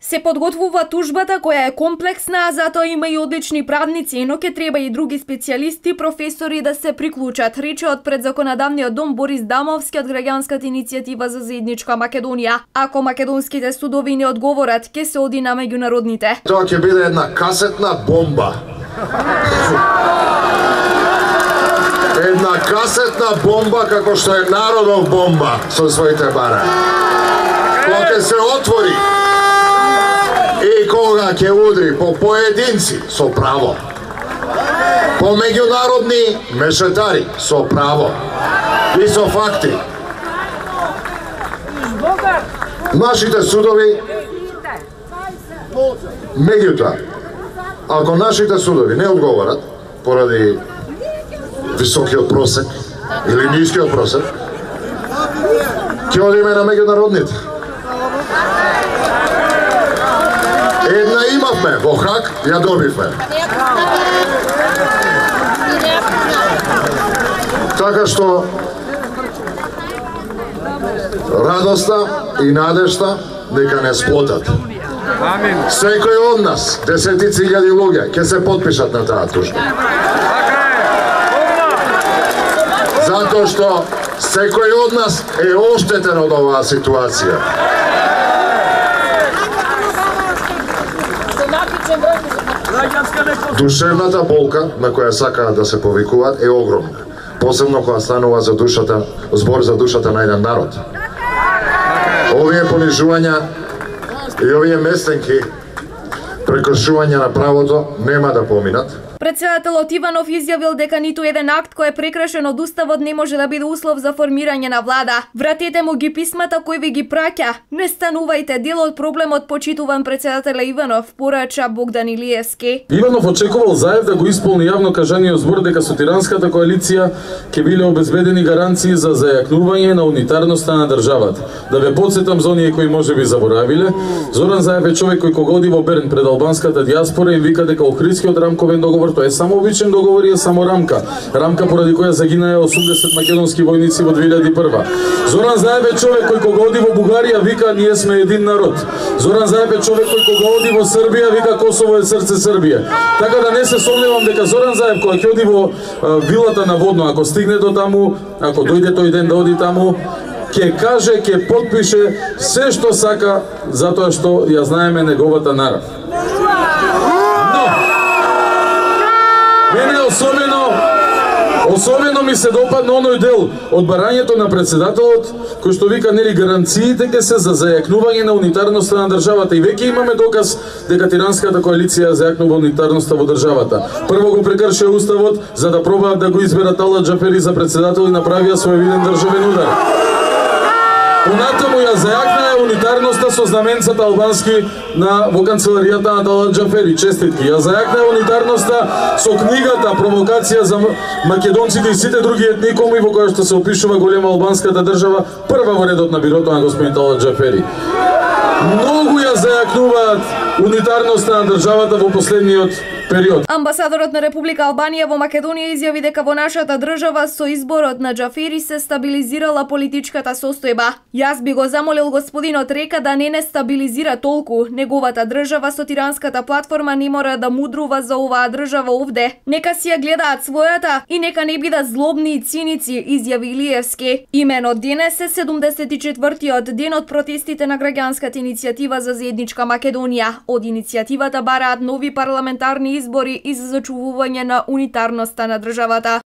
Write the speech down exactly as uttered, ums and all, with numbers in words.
Се подготвува тужбата која е комплексна, а затоа има и одлични правници, но ќе треба и други специјалисти, професори да се приклучат, рече од предзаконодавниот дом Борис Дамовски од граѓанската иницијатива за заедничка Македонија. Ако македонските судови не одговорат, ќе се оди на меѓународните. Тоа ќе биде една касетна бомба. Една касетна бомба како што е народов бомба со своите бара. Кога ќе се отвори и кога ќе удри по поединци со право, по меѓународни мешетари со право и со факти, нашите судови, меѓутоа, ако нашите судови не одговорат поради високиот просек или нискиот просек, ќе одиме на меѓународните. Една имавме во Хаг, ја добивме. Така што радоста и надежта нека не сплотат. Секој од нас, десетици илјади луѓе, ќе се потпишат на таа тужба. Затоа што секој од нас е оштетен од оваа ситуација. Душевната болка на која сакаат да се повикуваат е огромна, посебно кога станува за душата, збор за душата на еден народ. Овие понижувања и овие местенки, прекршување на правото нема да поминат. Председателот Иванов изјавил дека ниту еден акт кој е прекрашен од Уставот не може да биде услов за формирање на влада. Вратете му ги писмата кој ви ги праќа. Не станувајте дел од проблемот, почитуван председателя Иванов, порача Богдан Илиевски. Иванов очекувал Заев да го исполни јавно кажаниот збор дека со тиранската коалиција ќе биле обезбедени гаранции за зајакнување на унитарноста на државата. Да ве потсетам за оние кои можеби заборавиле, Зоран Заев е човек кој кога оди во Берн пред албанската дијаспора им вика дека Охридскиот рамковен договор тоа е само обичен договор и е само рамка. Рамка поради која загинаа осумдесет македонски војници во две илјади и прва. Зоран Заев е човек кој кога оди во Бугарија вика ние сме един народ. Зоран Заев е човек кој кога оди во Србија вика Косово е срце Србија. Така да не се сомневам дека Зоран Заев кога ќе оди во а, вилата на Водно, ако стигне до таму, ако дојде тој ден да оди таму, ќе каже, ќе потпише се што сака затоа што ја знаеме неговата нарав. Мене особено, особено ми се допадна оној дел од барањето на председателот, кој што вика нели гаранциите ќе се за зајакнување на унитарноста на државата. И веќе имаме доказ дека тиранската коалиција зајакнува унитарноста во државата. Прво го прекршија Уставот за да пробаат да го изберат Ала Џафери за председател и направија свој виден државен удар. Понатаму ја зајакнаа унитарноста со знаменцата албански на во канцеларијата на Ала Џафери. Честитки. Ја зајакнаа унитарноста со книгата Провокација за македонците и сите други етникуми во која што се опишува голема албанската држава, прва во редот на бирото на господин Ала Џафери. Многу ја зајакнуваат унитарноста на државата во последниот период. Амбасадорот на Република Албанија во Македонија изјави дека во нашата држава со изборот на Џафери се стабилизирала политичката состојба. Јас би го замолил господинот Река да не не стабилизира толку. Неговата држава со тиранската платформа не мора да мудрува за оваа држава овде. Нека си ја гледаат својата и нека не бидат злобни и циници, изјави Илиевски. Имено денес е седумдесет и четвртиот ден од протестите на граѓанската иницијатива за заедничка Македонија. Од иницијативата бараат нови парламентарни избори и за зачувување на унитарноста на државата.